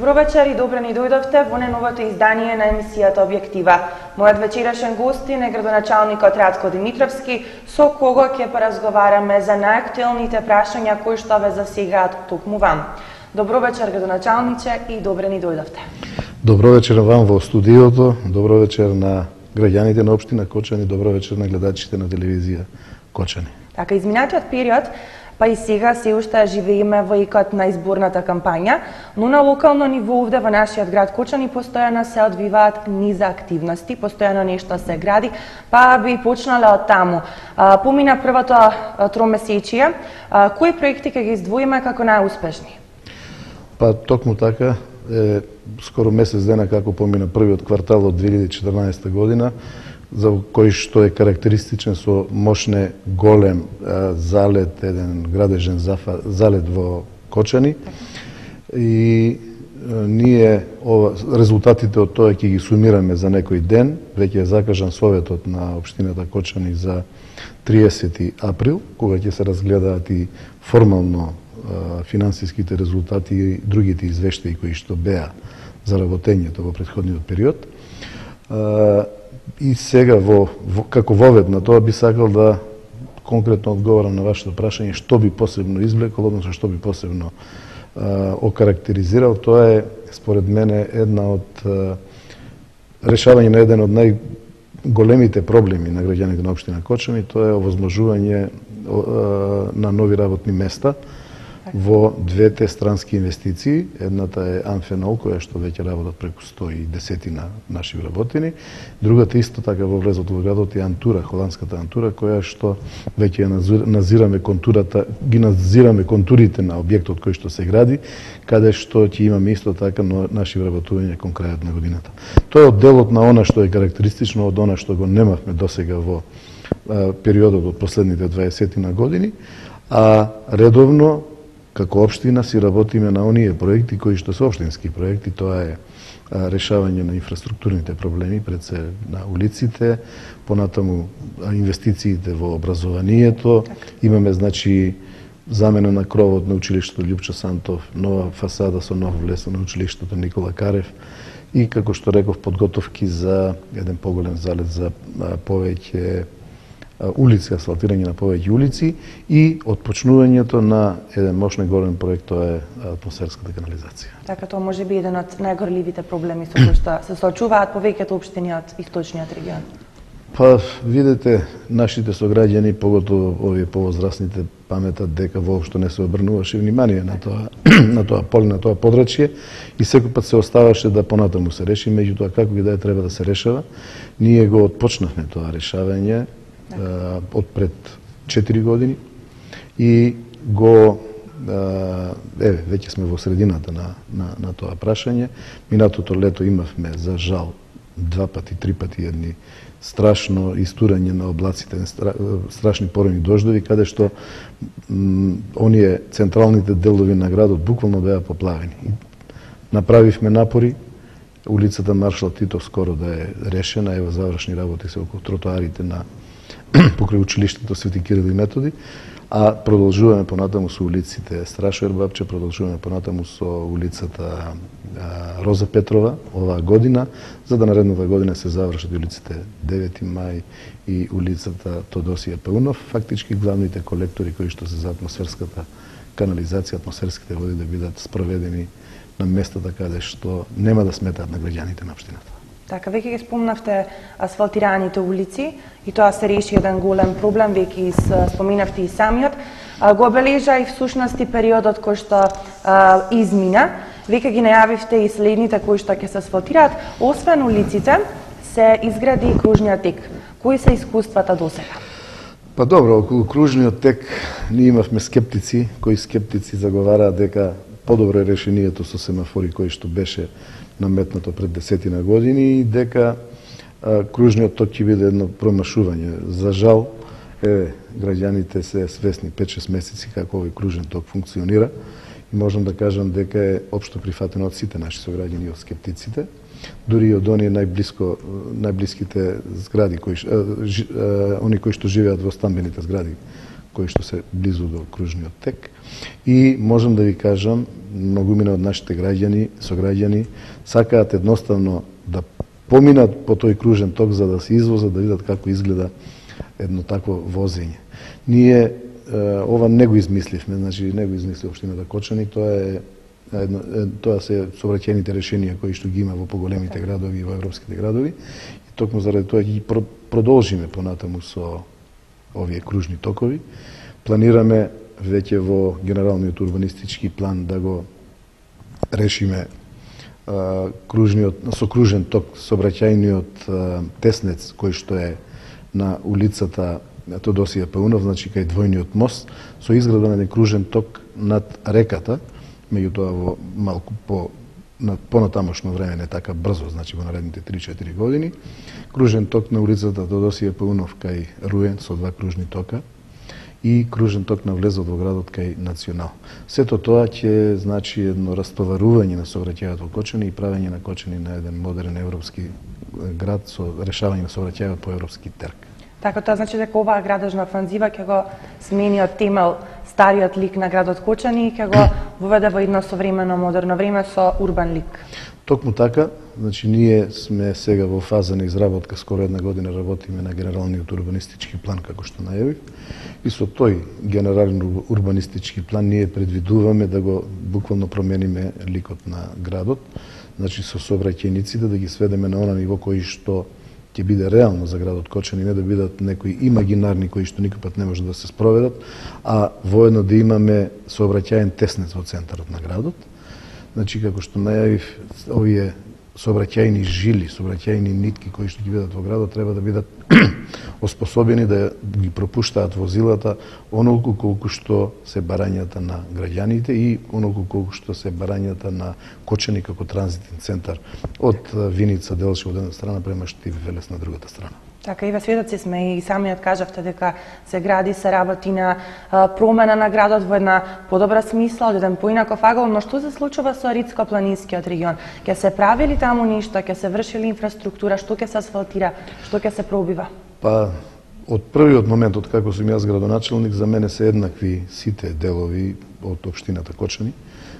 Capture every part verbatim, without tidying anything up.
Добро вечер и добре ни дојдовте во најновото издание на емисијата Објектива. Мојот вечерашен гостин е градоначалникот Радко Димитровски, со кого ќе поразговараме за најактуелните прашања кои што ве засегаат токму вам. Добро вечер, градоначалниче, и добре ни дојдовте. Добро вечер вам во студиото, добро вечер на граѓаните на општина Кочани, добро вечер на гледачите на телевизија Кочани. Така, изминатиот период, па и сега се уште живееме во икот на изборната кампања, но на локално ниво овде во нашиот град Кочани постојано се одвиваат низа активности, постојано нешто се гради, па би почнале од таму. Помина првото тромесечие, кои проекти ќе ги издвоиме како најуспешни? Па токму така, е, скоро месец дена како помина првиот квартал од две илјади и четрнаесета година, за кој што е карактеристичен со мощне голем а, залет, еден градежен зафа, залет во Кочани. И а, ние ова, резултатите од тоа ќе ги сумираме за некој ден. Веќе е закажан советот на општината Кочани за триесети април, кога ќе се разгледаат и формално а, финансиските резултати и другите извештаи кои што беа за работењето во претходниот период. А, И сега, во, во, како вовед на тоа, би сакал да конкретно одговорам на вашето прашање што би посебно извлекол, односно што би посебно а, окарактеризирал. Тоа е, според мене, една од а, решавање на еден од најголемите проблеми на граѓаните на општина Кочани, тоа е овозможување а, на нови работни места во двете странски инвестиции. Едната е Амфенол, која што веќе работат преку сто и десет на наши вработени. Другата исто така во влезот во градот е Антура, холандската Антура, која што веќе назираме контурата, ги назираме контурите на објектот кој што се гради, каде што ќе имаме исто така наши вработувања кон крајот на годината. Тоа е од делот на она што е карактеристично од она што го немавме досега во а, периодот од последните дваесет на години, а редовно како општина си работиме на оние проекти кои што се општински проекти. Тоа е а, решавање на инфраструктурните проблеми, пред се на улиците, понатаму инвестициите во образованието. Имаме, значи, замена на кровот на училиштето Љупчо Сантов, нова фасада со нов влез на училиштето Никола Карев и, како што реков, подготовки за еден поголем залет за а, повеќе улици, асфалтирање на повеќе улици и отпочнувањето на еден мощен голем проект, тоа е атмосферската канализација. Така, тоа може би еден од најгорливите проблеми со кои што се соочуваат повеќето општини од источниот регион. Па, видете, нашите сограѓани, поготово овие повозрасните, паметат дека воопшто не се обрнуваше внимание на тоа, на тоа поле, на тоа подрачје и секој пат се оставаше да понатаму се реши, меѓутоа како ги да е треба да се решава. Ние го отпочнавме тоа решавање од пред четири години и го еве веќе сме во средината на на на тоа прашање. Минатото лето имавме за жал два пати, три пати едни страшно истурање на облаците, страшни поройни дождови, каде што оние централните делови на градот буквално беа поплавени. Направивме напори улицата Маршал Титов скоро да е решена, ево завршни работи се околу тротоарите на покрај училиштето Свети Кирил и Методи, а продолжуваме понатаму со улиците Страшо Ербапче, продолжуваме понатаму со улицата а, Роза Петрова оваа година, за да наредната година се завршат улиците девети мај и улицата Тодосија Паунов, фактички главните колектори кои што се за атмосферската канализација, атмосферските води да бидат спроведени на местата каде што нема да сметаат на граѓаните на општината. Така, веќе ги спомнавте асфалтираните улици и тоа се реши еден голем проблем, веќе споминавте и самиот. Го обележа и всушност и периодот кој што а, измина. Веќе ги најавивте и следните кои што ќе се асфалтираат. Освен улиците, се изгради и кружниот тек. Кои се искуствата досега? Па добро, околу кружниот тек ние имавме скептици, кои скептици заговараат дека подобро е решението со семафори кој што беше наметнато пред десетина години и дека а, кружниот ток ќе биде едно промашување. За жал, е, граѓаните се свесни пет-шест месеци како овој кружен ток функционира и можам да кажам дека е општо прифатено од сите наши сограѓани и од скептиците, дури и од оние најблиско најблиските згради кои а, жи, а, они кои што живеат во стамбените згради кои што се близу до кружниот тек. И можам да ви кажам, многумина од нашите граѓани, сограѓани, сакаат едноставно да поминат по тој кружен ток за да се извозат, да видат како изгледа едно такво возење. Ние ова не го измисливме, значи не го измисли општината Кочани, тоа е едно, тоа се сообраќајните решенија кои што ги има во поголемите градови и во европските градови. И токму заради тоа ги продолжиме понатаму со овие кружни токови. Планираме веќе во генералниот урбанистички план да го решиме а, кружниот со кружен ток сообраќајниот теснец кој што е на улицата Тодосија Паунов, значи кај двојниот мост, со изградба на еден кружен ток над реката, меѓутоа во малку по на понатамошно време, не така брзо, значи во наредните три-четири години, кружен ток на улицата Тодосија Паунов кај Руен со два кружни тока и кружен ток на влезот во градот кај Национал. Сето тоа ќе значи едно растоварување на сообраќајот во Кочани и правење на Кочани на еден модерен европски град со решавање на сообраќајот по европски терк. Така, тоа значи дека оваа градежна офанзива ќе го смени од темел стариот лик на градот Кочани и ќе го воведе во едно современо модерно време со урбан лик. Токму така, значи ние сме сега во фаза на изработка, скоро една година работиме на генералниот урбанистички план како што најавив. И со тој генерален урбанистички план ние предвидуваме да го буквално промениме ликот на градот, значи со сообраќајниците да ги сведеме на она ниво кој што ќе биде реално за градот Кочани, не да бидат некои имагинарни кои што никој пат не може да се спроведат, а воедно да имаме сообраќаен теснец во центарот на градот. Значи, како што најавив, овие сообраќајни жили, сообраќајни нитки кои што ги бидат во градот треба да бидат оспособени да ги пропуштаат возилата онолку колку што се барањата на граѓаните и онолку колку што се барањата на Кочани како транзитен центар од Виница, Делчево од една страна према Штиви Велес на другата страна. Така, и ве сведоци сме и самиот кажавте дека се гради, се работи на а, промена на градот во една подобра смисла, од еден поинаков агол, но што се случува со Рицко-планинскиот регион? Ќе се прави ли таму ништо, ќе се врши ли инфраструктура, што ќе се асфалтира, што ќе се пробива? Па, од првиот момент, од како сум јас градоначелник, за мене се еднакви сите делови од општината Кочани.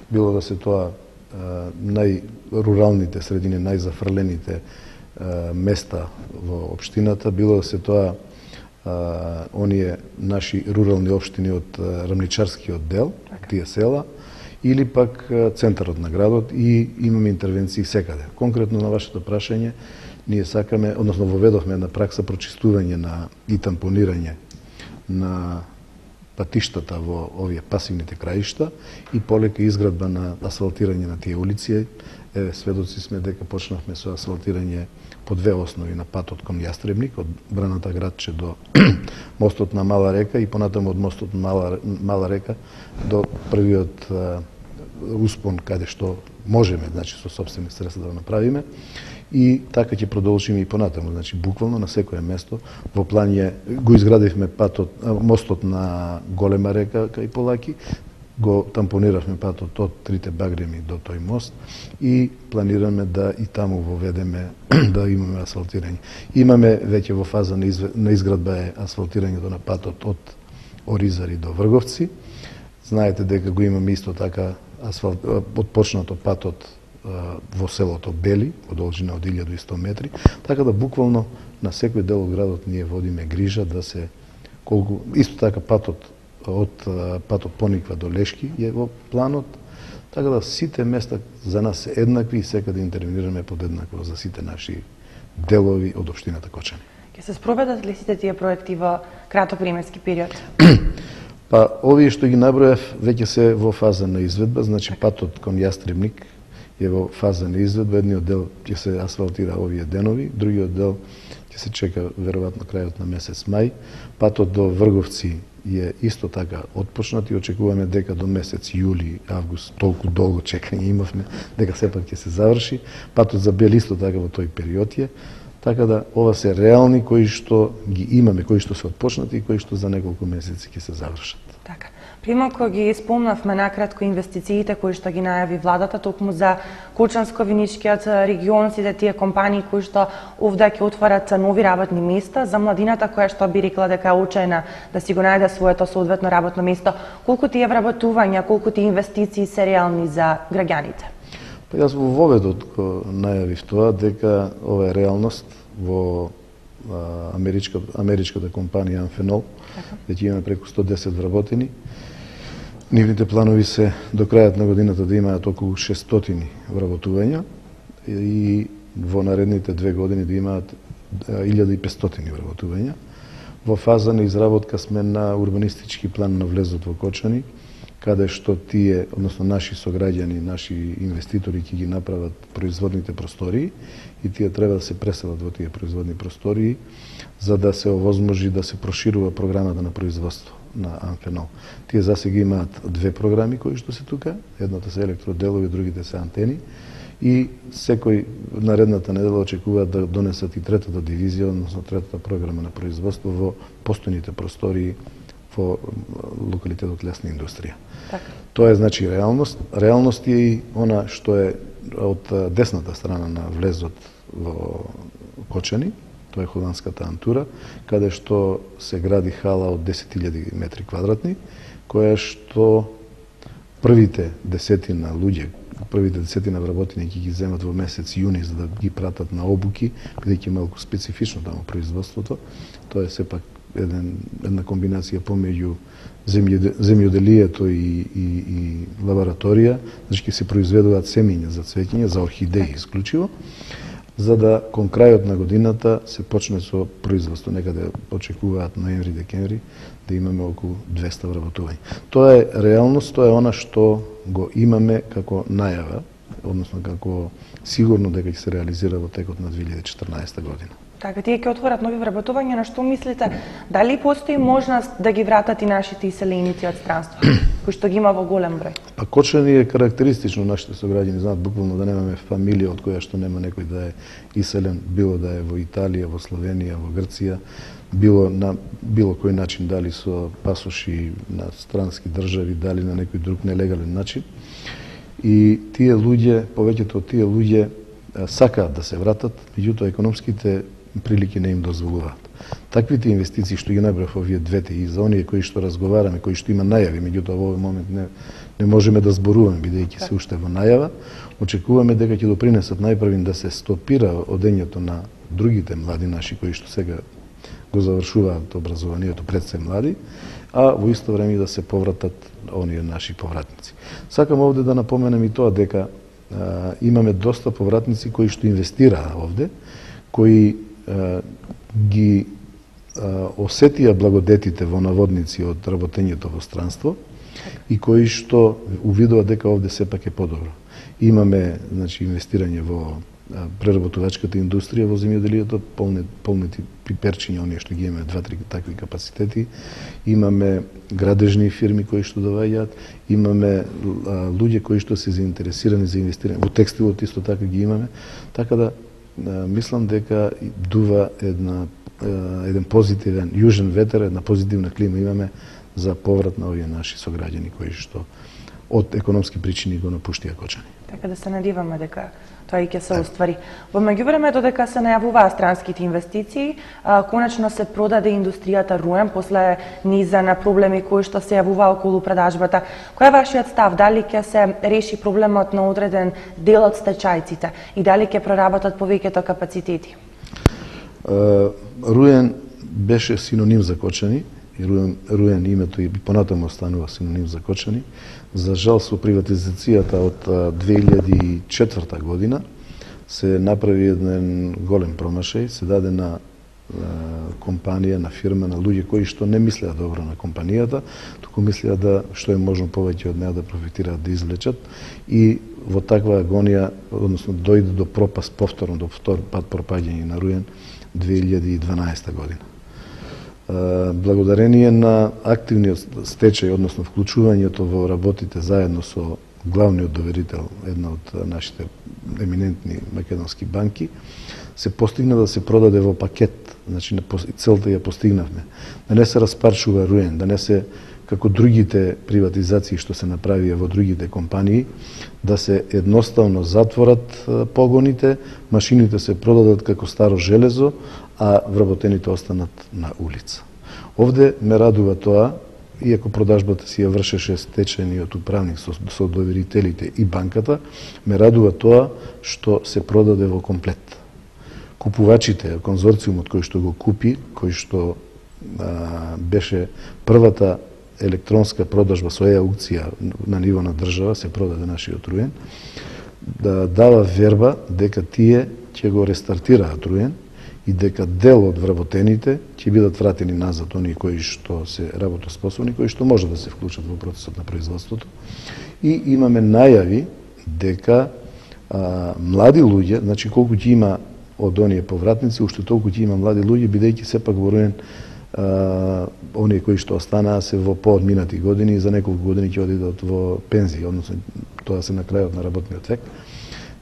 Било да се тоа а, најруралните средини, најзафрлените места во општината, било да се тоа а, оние наши рурални општини од Рамничарскиот дел, тие села, или пак центарот на градот, и имаме интервенции секаде. Конкретно на вашето прашање, ние сакаме, односно воведовме една пракса прочистување на и тампонирање на патиштата во овие пасивните краишта и полека изградба на асфалтирање на тие улици. Еве, сведоци сме дека почнавме со асфалтирање по две основи на патот кон Јастребник, од Браната градче до мостот на Мала река и понатаму од мостот на Мала, Мала река до првиот а, успон каде што можеме, значи со сопствени средства да го направиме. И така ќе продолжиме и понатаму, значи буквално на секое место. Во план е, го изградивме патот, мостот на Голема река кај Полаки, го тампониравме патот од трите багреми до тој мост и планираме да и таму воведеме да имаме асфалтирање. Имаме веќе во фаза на, изв... на изградба е асфалтирањето на патот од Оризари до Врговци. Знаете дека го имаме исто така асфалт... отпочнато патот во селото Бели, во должина од илјаду и сто метри, така да буквално на секој дел од градот ние водиме грижа да се колку исто така патот од патот Пониква до Лешки е во планот, така да сите места за нас се еднакви и секаде интервенираме подеднакво за сите наши делови од општината Кочани. Ќе се спроведат ли сите тие проекти во краток временски период? Па овие што ги набројав веќе се во фаза на изведба, значи патот кон Јастребник е во фаза на изведба, едниот дел ќе се асфалтира овие денови, другиот дел ќе се чека веројатно крајот на месец мај. Патот до Врговци е исто така отпочнат и очекуваме дека до месец јули, август, толку долго чекање имавме, дека сепак ќе се заврши. Патот за Бел исто така во тој период е. Така да ова се реални кои што ги имаме, кои што се отпочнати и кои што за неколку месеци ќе се завршат. Така. Примако ги спомнавме накратко инвестициите кои што ги најави владата токму за Кочанско-Виничкиот регион, сите тие компании кои што овде ќе отварат нови работни места за младината која што би рекла дека е очајна да си го најде своето соодветно работно место. Колку тие вработувања, колку тие инвестиции се реални за граѓаните? Па јас во воведот го најавив тоа дека ова е реалност во а, америчка, америчката компанија Amphenol, дека имаме преку сто десет вработени. Нивните планови се до крајот на годината да имаат околу шестстотини вработувања и во наредните две години да имаат илјада и петстотини вработувања. Во фаза на изработка сме на урбанистички план на влезот во Кочани, каде што тие, односно наши сограѓани, наши инвеститори ќе ги направат производните простории и тие треба да се преселат во тие производни простории за да се овозможи да се проширува програмата на производство на Amphenol. Тие засега имаат две програми кои што се тука, едната се електроделови, другите се антени и секој наредната недела очекуваат да донесат и третата дивизија, односно третата програма на производство во постојните простории во локалитетот лесна индустрија. Така. Тоа е значи реалност. Реалност е и она што е од десната страна на влезот во Кочани, тоа е холандската Антура, каде што се гради хала од десет илјади метри квадратни, која што првите десетина луѓе, првите десетина вработени ќе ги земат во месец јуни за да ги пратат на обуки, бидејќи малку специфично таму производството. Тоа е сепак еден, една комбинација помеѓу земјоделието и, и, и лабораторија, значи ќе се произведуваат семиња за цвеќење, за орхидеи исклучиво, за да кон крајот на годината се почне со производство. Некаде очекуваат ноември-декември да имаме околу двесте вработувања. Тоа е реалност, тоа е она што го имаме како најава, односно како сигурно дека ќе се реализира во текот на две илјади и четрнаесета година. Така, тие ќе отворат нови вработувања, на што мислите, дали постои можност да ги вратат и нашите иселеници од странство, кои што ги има во голем број? Па Кочани е карактеристично, нашите сограѓани знаат буквално да немаме фамилија од која што нема некој да е иселен, било да е во Италија, во Словенија, во Грција, било на било кој начин, дали со пасоши на странски држави, дали на некој друг нелегален начин. И тие луѓе, повеќето од тие луѓе сакаат да се вратат, меѓутоа економските прилики не им дозволуваат. Таквите инвестиции што ги набрав овие двете и за оние кои што разговараме, кои што има најави, меѓутоа во овој момент не, не можеме да зборуваме бидејќи се уште во најава, очекуваме дека ќе допринесат најпрвин да се стопира одењето на другите млади наши кои што сега го завршуваат образованието пред се млади, а во исто време да се повратат оние наши повратници. Сакам овде да напоменам и тоа дека а, имаме доста повратници кои што инвестираа овде, кои а, ги а, осетија благодетите во наводници од работењето во странство и кои што увидува дека овде сепак е подобро. Имаме значи инвестирање во преработувачката индустрија, во земјоделието, полни, полнити пиперчиња, оние што ги имаме два-три такви капацитети. Имаме градежни фирми кои што доваѓаат, имаме а, луѓе кои што се заинтересирани за инвестирање. Во текстилот исто така ги имаме. Така да а, мислам дека дува една а, еден позитивен јужен ветер, една позитивна клима имаме за поврат на овие наши сограѓани кои што од економски причини го напуштија Кочани. Така да се надиваме дека тоа и ќе се оствари. Во меѓувреме, додека се најавуваа странските инвестиции, а, конечно се продаде индустријата Руен после низа на проблеми кои што се јавуваа околу продажбата. Кој е вашиот став? Дали ќе се реши проблемот на одреден дел од стечајците и дали ќе проработат повеќето капацитети? Uh, Руен беше синоним за Кочани и Руен, Руен името и понатаму останува синоним за Кочани. За жал со приватизацијата од две илјади и четврта година се направи еден голем промашај, се даде на компанија, на фирма, на луѓе кои што не мислеа добро на компанијата, туку мислеа да што е можно повеќе од неа да профитираат, да извлечат и во таква агонија, односно дојде до пропаст повторно, до втор пат пропаѓање на Руен две илјади и дванаесета година. Благодарение на активниот стечај, односно вклучувањето во работите заедно со главниот доверител, една од нашите еминентни македонски банки, се постигна да се продаде во пакет, значи целта ја постигнавме. Да не се распарчува Руен, да не се како другите приватизации што се направија во другите компании, да се едноставно затворат погоните, машините се продадат како старо железо, а вработените останат на улица. Овде ме радува тоа, иако продажбата си ја вршеше стечениот управник со, со доверителите и банката, ме радува тоа што се продаде во комплет. Купувачите, конзорциумот кој што го купи, кој што а, беше првата електронска продажба со е-аукција на ниво на држава, се продаде нашиот Руен, да дава верба дека тие ќе го рестартираат Руен и дека дел од вработените ќе бидат вратени назад, оние кои што се работоспособни, кои што може да се вклучат во процесот на производството. И имаме најави дека а, млади луѓе, значи колку ќе има од оние повратници, уште толку ќе има млади луѓе, бидејќи сепак во Руен Uh, оние кои што останаа се во поодминати години и за неколку години ќе одидат во пензија, односно тоа се на крајот на работниот век.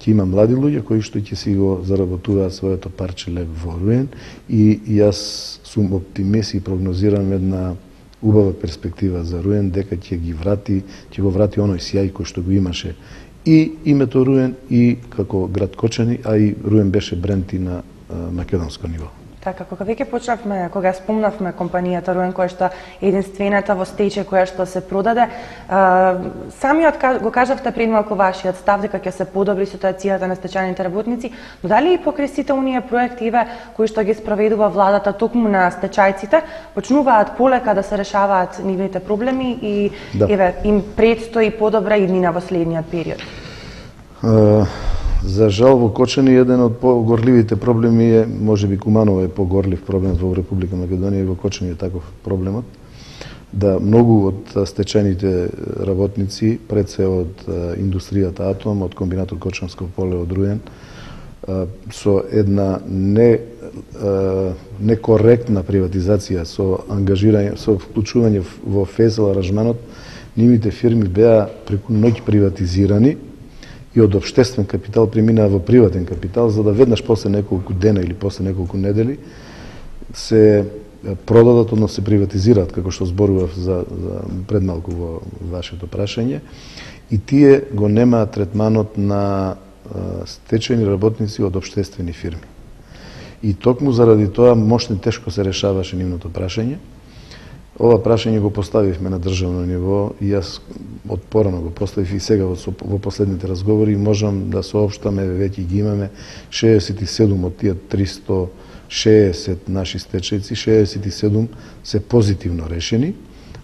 Ќе има млади луѓе кои што ќе си го заработуваат своето парче леб во Руен и јас сум оптимист и прогнозирам една убава перспектива за Руен дека ќе ги врати, ќе го врати оној сјај кој што го имаше и името Руен и како град Кочани, а и Руен беше бренд и на uh, македонско ниво. Така, кога веќе почнавме, кога спомнавме компанијата Руен, која што е единствената во стечај која што се продаде, а, самиот го кажавте пред малку вашиот став дека ќе се подобри ситуацијата на стечајните работници, но дали и покрај сите оние проекти кои што ги спроведува владата токму на стечајците, почнуваат полека да се решаваат нивните проблеми и да. еве им предстои подобра иднина во следниот период? Uh... За жал во Кочани еден од погорливите проблеми е, можеби Куманово е погорлив проблем во Република Македонија и во Кочани е таков проблемот, да многу од стечајните работници, пред се од индустријата Атом, од комбинатот Кочанско поле, од Руен, со една не некоректна приватизација, со ангажирање, со вклучување во фезел аранжманот, нивните фирми беа преку ноќ приватизирани и од општествен капитал преминаа во приватен капитал, за да веднаш после неколку дена или после неколку недели се продадат, односно се приватизираат, како што зборував за, за предмалку во вашето прашање, и тие го немаат третманот на стечајни работници од општествени фирми. И токму заради тоа мошне тешко се решаваше нивното прашање. Ова прашање го поставивме на државно ниво и јас од порано го поставив и сега во, во последните разговори и можам да соопштаме, веќе ги имаме шеесет и седум од тие триста шеесет наши стечајци, шеесет и седум се позитивно решени,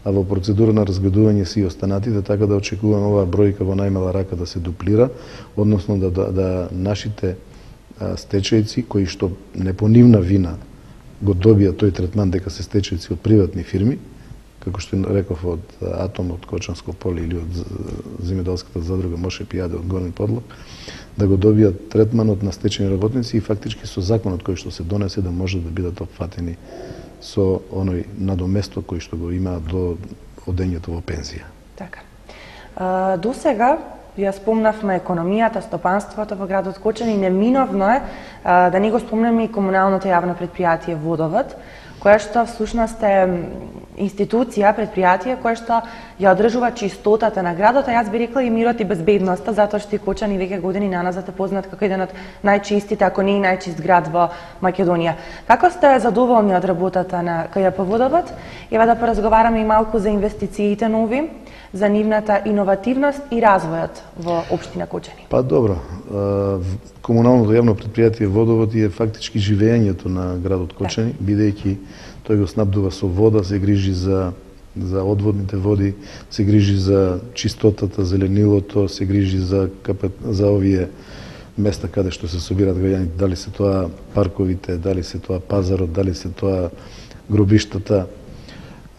а во процедура на разгледување се и останатите, така да очекуваме оваа бројка во најмала рака да се дуплира, односно да, да, да нашите а, стечајци кои што не по нивна вина го добија тој третман дека се стечајци од приватни фирми, како што реков од Атом, од Кочанско поле или од земјоделската задруга Моше Пијаде од Горни Подлог, да го добијат третманот на стечајни работници и фактички со законот кој што се донесе да може да бидат опфатени со оној надоместо кој што го имаат до одењето во пензија. Така. А, до сега ја спомнавме економијата, стопанството во градот Кочани, неминовно е а, да не го спомнеме и комуналното јавно предпријатие Водовод, која што всушност е институција, предпријатие која што ја одржува чистотата на градот, а јас би рекла и мирот и безбедноста, затоа што и Кочани веќе години наназад е познат како еден од најчистите, ако не и најчист град во Македонија. Како сте задоволни од работата на К Ј П Водовод? Ева да поразговараме и малку за инвестициите нови, за нивната иновативност и развојот во општина Кочани. Па добро, комуналното јавно предпријатие Водовод е фактички живеењето на градот Кочани, да. Бидејќи тој го снабдува со вода, се грижи за за одводните води, се грижи за чистотата, зеленилото, се грижи за капет, за овие места каде што се собираат граѓаните, дали се тоа парковите, дали се тоа пазарот, дали се тоа гробиштата.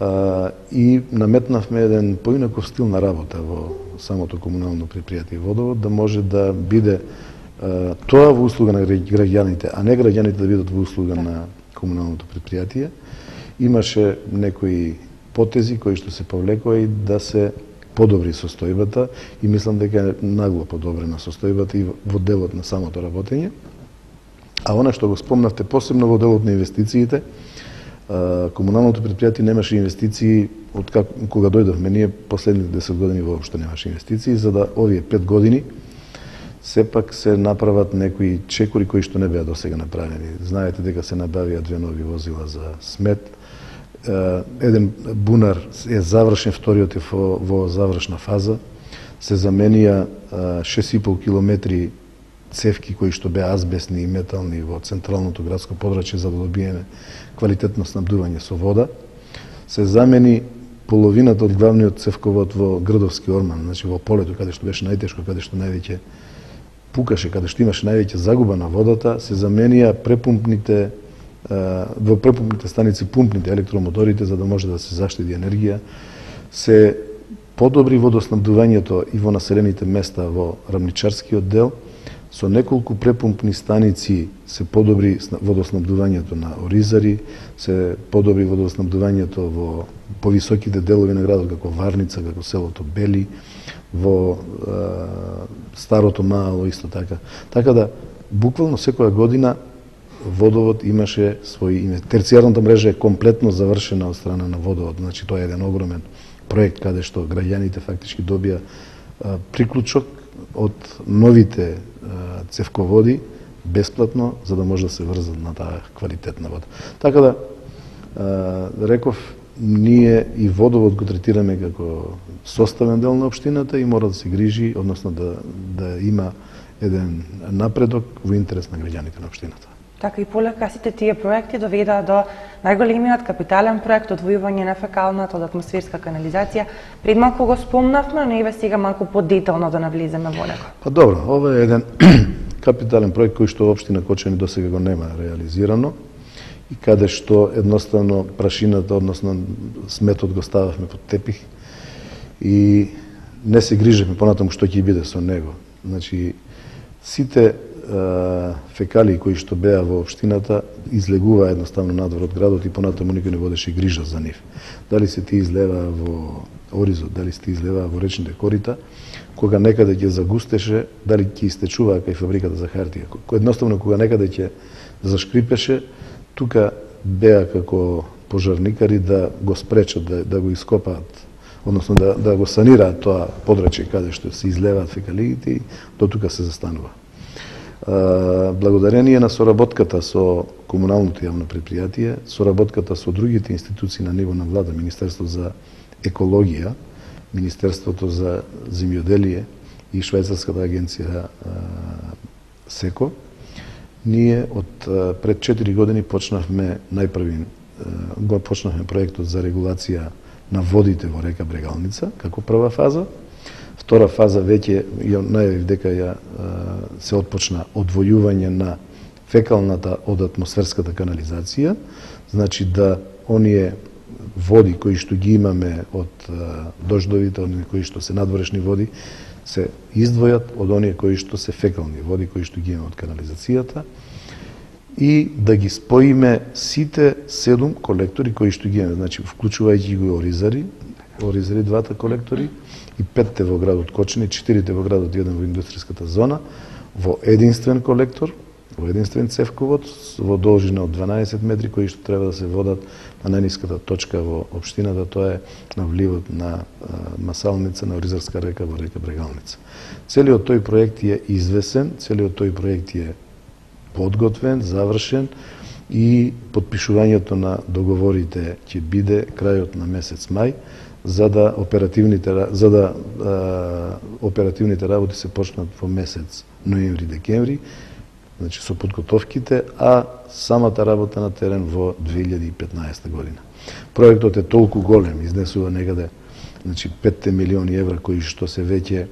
Uh, и наметнавме еден поинаков стил на работа во самото комунално предпријатие Водовод, да може да биде uh, тоа во услуга на граѓаните, а не граѓаните да бидат во услуга на комуналното предпријатие. Имаше некои потези кои што се повлекоа и да се подобри состојбата и мислам дека е нагло подобрена состојбата и во делот на самото работење. А она што го спомнавте посебно во делот на инвестициите, комуналното предпријатие немаше инвестиции од как, кога дојдовме ние, последните десет години воопшто немаше инвестиции, за да овие пет години сепак се направат некои чекори кои што не беа досега направени. Знаете дека се набавија две нови возила за смет. Еден бунар е завршен, вториот е во, во завршна фаза. Се заменија шест и пол километри цевки кои што беа азбестни и метални во централното градско подрачје за да добиеме квалитетно снабдување со вода. Се замени половината од главниот цевковод во Грдовски орман, значи во полето каде што беше најтешко, каде што највеќе пукаше, каде што имаше највеќе загуба на водата, се заменија препумпните во препумпните станици пумпните електромоторите за да може да се заштеди енергија. Се подобри водоснабдувањето и во населените места во рамничарскиот дел. Со неколку препумпни станици се подобри водоснабдувањето на Оризари, се подобри водоснабдувањето во повисоките делови на градот, како Варница, како селото Бели, во е, Старото Мало исто така. Така да, буквално секоја година водовод имаше своји име. Терцијарната мрежа е комплетно завршена од страна на водовод, значи тоа е еден огромен проект каде што граѓаните фактички добија е, приклучок од новите цевководи бесплатно за да може да се врзат на таа квалитетна вода. Така да реков, ние и водовод го третираме како составен дел на општината и мора да се грижи, односно да да има еден напредок во интерес на граѓаните на општината. Така и полека сите тие проекти доведаа до најголемиот капитален проект одвојување на фекалната од атмосферска канализација. Пред малку го спомнавме, но еве сега малку подетално да навлеземе во него. Па добро, ова е еден капитален проект кој што општина Кочани досега го нема реализирано и каде што едноставно прашината, односно сметот го стававме под тепих и не се грижевме понатаму што ќе биде со него. Значи сите фекалии кои што беа во општината излегуваа едноставно надвор од градот и понатаму никој не водеше грижа за нив. Дали се ти излеваа во Оризот, дали се ти излеваа во речните корита, кога некаде ќе загустеше, дали ќе истечуваа кај фабриката за хартија. Едноставно кога некаде ќе зашкрипеше, тука беа како пожарникари да го спречат, да, да го ископаат, односно да, да го санираат тоа подрачје каде што се излеваат фекалиите и до тука се застанува. Благодарение на соработката со комуналното јавно предпријатие, соработката со другите институции на ниво на влада, Министерството за екологија, Министерството за земјоделие и Швајцарската агенција СЕКО, ние од пред четири години почнавме најпрви го почнавме проектот за регулација на водите во река Брегалница како прва фаза. Втора фаза веќе ја најавив дека ја се отпочна одвојување на фекалната од атмосферската канализација, значи да оние води кои што ги имаме од дождовите, оние кои што се надворешни води, се издвојат од оние кои што се фекални води кои што ги имаме од канализацијата и да ги споиме сите седум колектори кои што ги имаме, значи вклучувајќи го Оризари, Оризари двата колектори и петте во градот Кочани, четирите во градот, еден во индустријската зона, во единствен колектор, во единствен цевковод, во должина од дванаесет метри, кои што треба да се водат на најниската точка во општината, тоа е на вливот на Масалница, на Оризарска река во река Брегалница. Целиот тој проект е извесен, целиот тој проект е подготвен, завршен и подпишувањето на договорите ќе биде крајот на месец мај, за да оперативните за да а, оперативните работи се почнат во месец ноември-декември, значи со подготовките, а самата работа на терен во две илјади и петнаесета година. Проектот е толку голем, изнесува некаде значи петте милиони евра кои што се веќе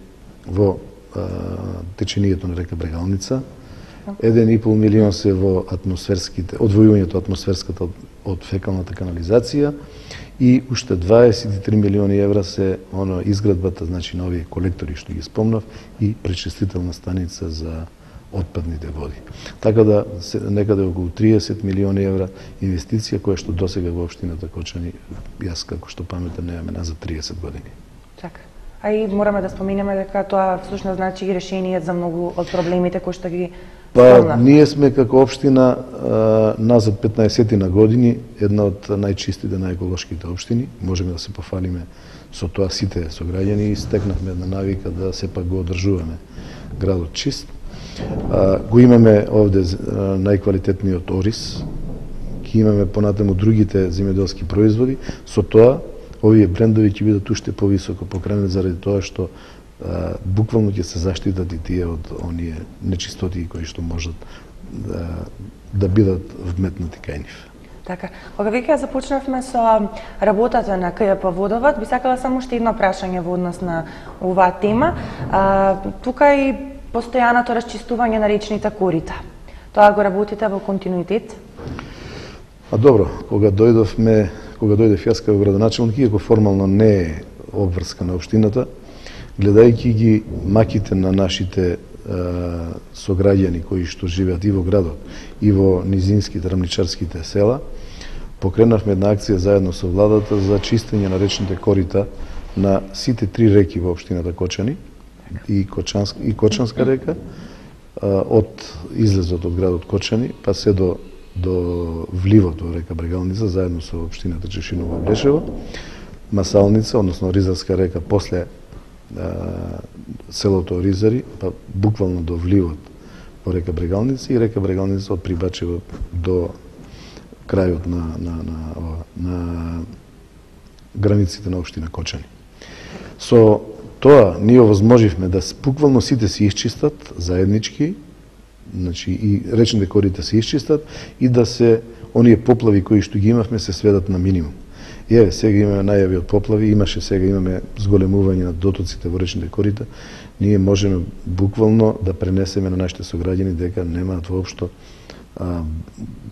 во а, течението на река Брегалница, еден и пол милион се во атмосферските, одвојувањето атмосферската од, од фекалната канализација и уште дваесет и три милиони евра се оно изградбата, значи на овие колектори што ги спомнав и пречистителна станица за отпадните води. Така да се, некаде околу триесет милиони евра инвестиција која што досега во општината Кочани, јас како што паметам немаме назад триесет години. Така. А и мораме да споменеме дека тоа всушност значи и решение за многу од проблемите кои што ги Па, ние сме како општина а, назад петнаесет на години една од најчистите, најеколошките општини. Можеме да се пофалиме со тоа сите сограѓани и стекнавме една навика да сепак го одржуваме градот чист. А, го имаме овде најквалитетниот ориз, ќе имаме понатаму другите земјоделски производи, со тоа овие брендови ќе бидат уште повисоко покренати заради тоа што а, буквално ќе се заштитат и тие од оние нечистоти кои што можат да, да бидат вметнати кај нив. Така, кога веќе започнавме со работата на К Ј П Водовод, би сакала само уште едно прашање во однос на оваа тема. А, тука и постојаното расчистување на речните корита. Тоа го работите во континуитет? А добро, кога дојдовме, кога дојдев јас како градоначелник, иако формално не е обврска на општината, гледајќи ги маките на нашите а, сограѓани кои што живеат и во градот и во низинските рамничарските села, покренавме една акција заедно со владата за чистење на речните корита на сите три реки во општината Кочани и Кочанска, и Кочанска река, а, од излезот од градот Кочани, па се до до вливот во река Брегалница, заедно со општината Чешиново Облешево, Масалница, односно Ризарска река, после а, селото Ризари, па буквално до вливот во река Брегалница и река Брегалница од Прибачево до крајот на, на, на, на границите на општина Кочани. Со тоа ние овозможивме да буквално сите се исчистат заеднички, значи и речните корита се исчистат и да се оние поплави кои што ги имавме се сведат на минимум. И еве сега имаме најави од поплави, имаше сега имаме зголемување на дотоците во речните корита. Ние можеме буквално да пренесеме на нашите сограѓани дека немаат воопшто а,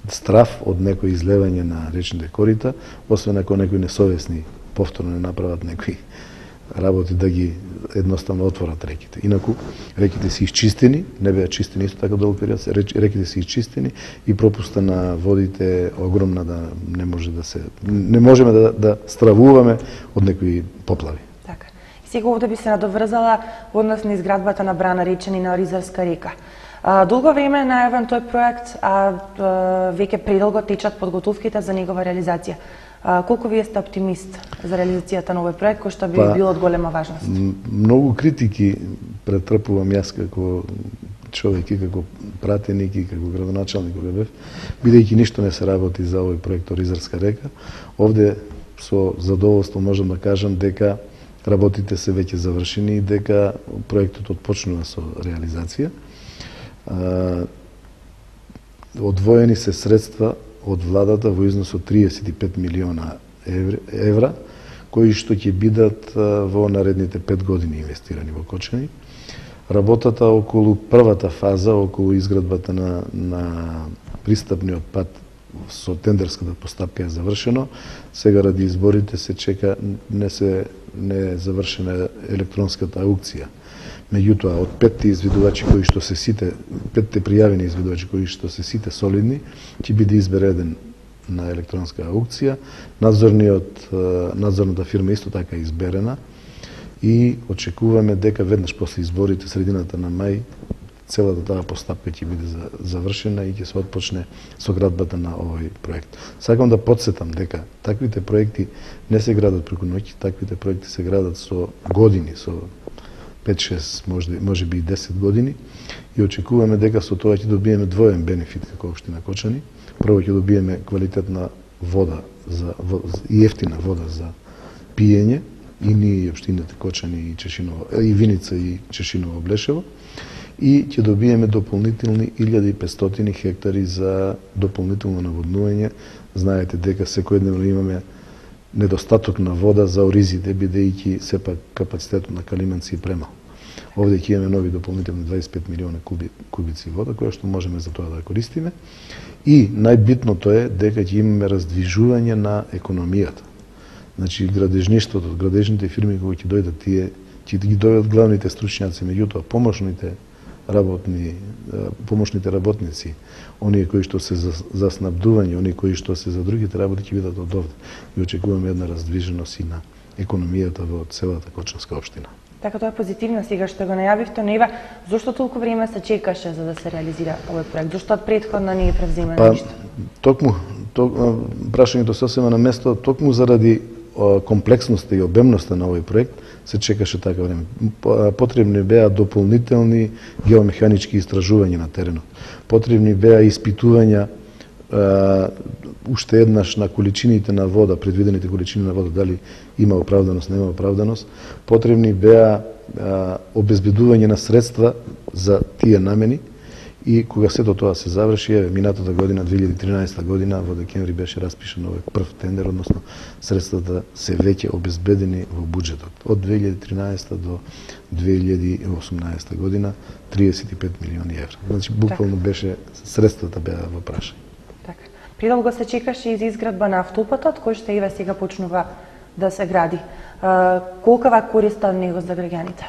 страф од некој излевање на речните корита, освен ако некои несовесни повторно не направат некои работи да ги едноставно отворат реките. Инаку реките се исчистени, не беа чистени исто така долг период, реките се исчистени и пропуста на водите е огромна, да не може да се не можеме да да стравуваме од некои поплави. Така. И сега овде би се надоврзала однос на изградбата на брана Речени на Ризарска река. А, долго време е најавен тој проект, а, а веќе предолго течат подготовките за негова реализација. А, колку вие сте оптимист за реализацијата на овој проект, кој што би па, бил од голема важност? Многу критики претрпувам јас како човек и како пратеник и како градоначалник кога бев, бидејќи ништо не се работи за овој проект Ризарска река. Овде со задоволство можам да кажам дека работите се веќе завршени и дека проектот отпочнува со реализација. А, одвоени се средства од владата во износ од триесет и пет милиона евра, кои што ќе бидат во наредните пет години инвестирани во Кочани. Работата околу првата фаза, околу изградбата на, на пристапниот пат со тендерската постапка е завршено. Сега ради изборите се чека, не се не е завршена електронската аукција. Меѓутоа, од петте извидувачи кои што се сите, петте пријавени извидувачи кои што се сите солидни, ќе биде избереден на електронска аукција. Надзорниот, надзорната фирма исто така е изберена и очекуваме дека веднаш после изборите, средината на мај, целата таа постапка ќе биде завршена и ќе се отпочне со градбата на овој проект. Сакам да подсетам дека таквите проекти не се градат преку ноќ, таквите проекти се градат со години, со пет-шест, може, може би и десет години, и очекуваме дека со тоа ќе добиеме двоен бенефит како општина Кочани. Прво ќе добиеме квалитетна вода за, и ефтина вода за пиење, и ние и општините Кочани и Чешиново, и Виница и Чешиново Облешево, и ќе добиеме дополнителни илјада и петстотини хектари за дополнително наводнување. Знаете дека секојдневно имаме недостаток на вода за оризите, бидејќи сепак капацитетот на Калименци е премал. Овде ќе имаме нови дополнителни дваесет и пет милиона куби, кубици вода, која што можеме за тоа да користиме. И најбитното е дека ќе имаме раздвижување на економијата. Значи, градежништвото, градежните фирми кои ќе дојдат, тие ќе ги дојдат главните стручњаци, меѓутоа помошните работни, помошните работници, оние кои што се за, за снабдување, оние кои што се за другите работи ќе бидат од овде. И очекуваме една раздвиженост и на економијата во целата Кочанска општина. Така тоа е позитивно сега што го најавивте, но ева, зошто толку време се чекаше за да се реализира овој проект? Зошто од претходно не е превземено па, ништо? Токму, ток, прашањето сосема на место, токму заради комплексноста и обемноста на овој проект се чекаше така време. Потребни беа дополнителни геомеханички истражувања на теренот. Потребни беа испитувања Uh, уште еднаш на количините на вода, предвидените количини на вода, дали има оправданост, нема оправданост. Потребни беа uh, обезбедување на средства за тие намени и кога сето тоа се заврши, еве, минатата година, две илјади и тринаесетта година, во декември беше распишан овој прв тендер, односно средствата се веќе обезбедени во буџетот. Од две илјади и тринаесетта до две илјади и осумнаесетта година триесет и пет милиони евра. Значи, буквално беше, средствата беа во прашање. Придолго се чекаше и за изградба на автопатот, кој што еве сега почнува да се гради. Uh, колкава корист од него за граѓаните?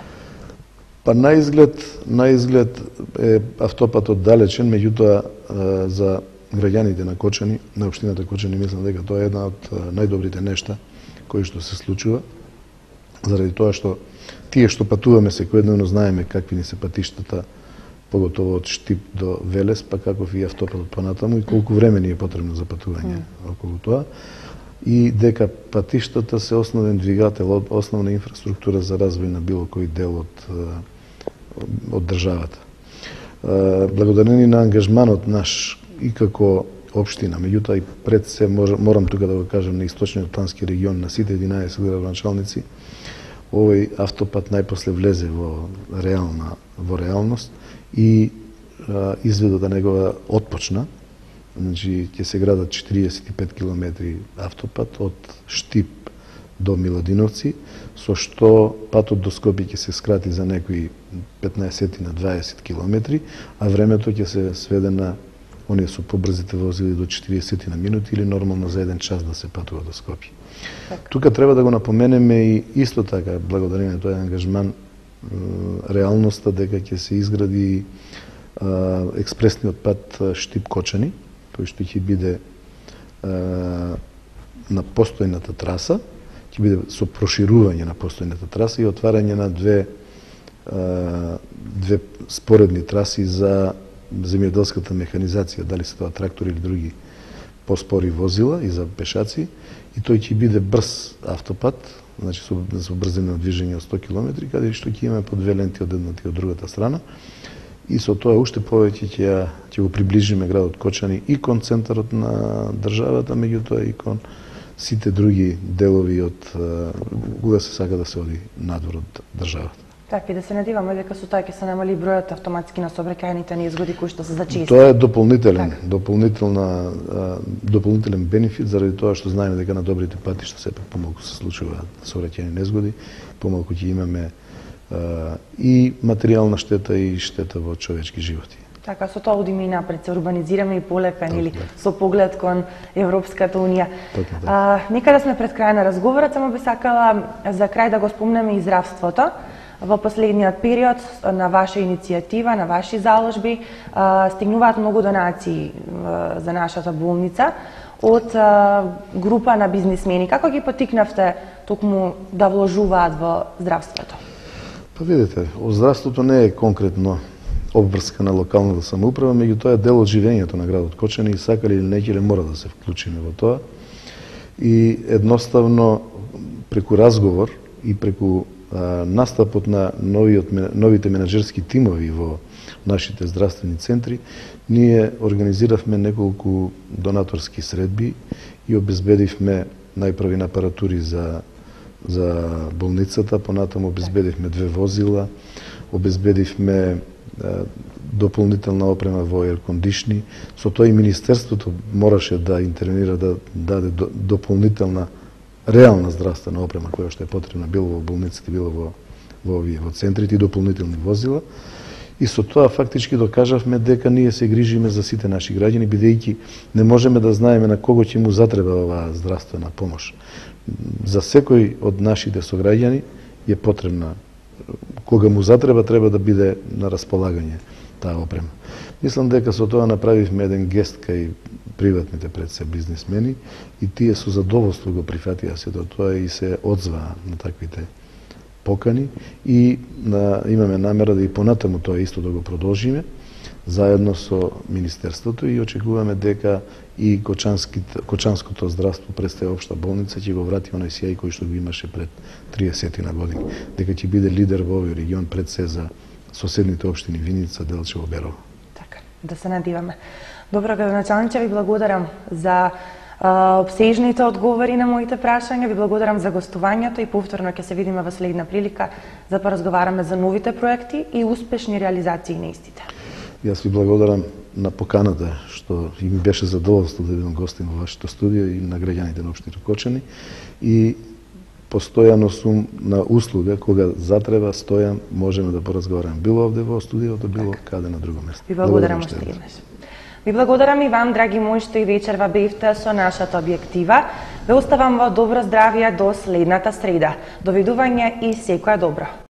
Па на изглед, на изглед е автопатот далечен, меѓутоа за граѓаните на Кочани, на општината Кочани, мислам дека тоа е една од најдобрите нешта кои што се случува, заради тоа што тие што патуваме секојдневно знаеме какви ни се патиштата, поготово од Штип до Велес, па каков и автопатот понатаму и колку време ни е потребно за патување mm. околу тоа. И дека патиштата се основен двигател, основна инфраструктура за развој на било кој дел од, од државата. Благодарение на ангажманот наш и како општина, меѓутоа и пред се морам тука да го кажам на Источниот плански регион, на сите единаесет градоначалници, овој автопат најпосле влезе во реална во реалност и а, изведата негова отпочна. Значи ќе се градат четириесет и пет километри автопат од Штип до Миладиновци, со што патот до Скопје ќе се скрати за некои петнаесет на дваесет километри, а времето ќе се сведе на оние со побрзите возили до четириесет на минути или нормално за еден час да се патува до Скопје. Так. Тука треба да го напоменеме и исто така, благодарение на тој ангажман, реалноста дека ќе се изгради а, експресниот пат Штип-Кочани, кој што ќе биде а, на постојната траса, ќе биде со проширување на постојната траса и отварање на две а, две споредни траси за земјоделската механизација, дали се тоа трактори или други поспори возила и за пешаци, и тој ќе биде брз автопат, значи со, со брзина на движење од сто километри, каде што ќе имаме по две ленти од едната и од другата страна. И со тоа уште повеќе ќе ќе го приближиме градот Кочани и кон центарот на државата, меѓутоа и кон сите други делови од кога се сака да се оди надвор од државата. Така, и да се надеваме дека со тоа ќе се намали бројот автоматски на сообраќајните неизгоди кои што се зачести. Тоа е дополнителен, так. дополнителна дополнителен бенефит заради тоа што знаеме дека на добрите патишта сепак помалку се случуваат сообраќајни незгоди, помалку ќе имаме а, и материјална штета и штета во човечки животи. Така, со тоа одиме и напред, се урбанизираме и полепен или со поглед кон Европската унија. А, нека да сме пред крај на разговорот, само би сакала за крај да го спомнеме и здравството. Во последниот период на ваша иницијатива, на ваши заложби, стигнуваат многу донации за нашата болница од група на бизнисмени. Како ги потикнавте токму да вложуваат во здравството? Па видите, здравството не е конкретно обврска на локалната самоуправа, меѓутоа е дел од живењето на градот Кочани и сакали или не мора да се вклучиме во тоа. И едноставно преку разговор и преку настапот на новиот, новите менаџерски тимови во нашите здравствени центри, ние организиравме неколку донаторски средби и обезбедивме најпрви апаратури за, за болницата, понатаму обезбедивме две возила, обезбедивме дополнителна опрема во еркондишни. Со тоа и Министерството мораше да интервенира, да даде дополнителна реална здравствена опрема која што е потребна било во болниците, било во во овие во центрите и дополнителни возила. И со тоа фактички докажавме дека ние се грижиме за сите наши граѓани, бидејќи не можеме да знаеме на кого ќе му затреба оваа здравствена помош. За секој од нашите сограѓани е потребна, кога му затреба, треба да биде на располагање таа опрема. Мислам дека со тоа направивме еден гест кај приватните пред се бизнисмени и тие со задоволство го прифатија сето тоа и се одзваа на таквите покани и на, имаме намера да и понатаму тоа исто да го продолжиме заедно со Министерството и очекуваме дека и Кочанското здравство представи општа болница ќе го врати оној сјај кој што го имаше пред триесет на години, дека ќе биде лидер во овој регион пред се за соседните општини Виница, Делчево, Берово. Така, да се надиваме. Добро, градоначалниче, ви благодарам за а, обсежните одговори на моите прашања, ви благодарам за гостувањето и повторно ќе се видиме во следна прилика за да поразговараме за новите проекти и успешни реализации на истите. Јас ви благодарам на поканата што и ми беше задоволство да бидам гостин во вашето студио и на граѓаните на општина Кочани и постојано сум на услуга кога затреба стојам, можеме да поразговараме било овде во студиото, било така каде на друго место. Ви благодарам уште еднаш. Ви благодарам и вам, драги мои, што и вечерва бевте со нашата објектива. Ве оставам во добро здравје до следната среда. Довидување и секоја добро.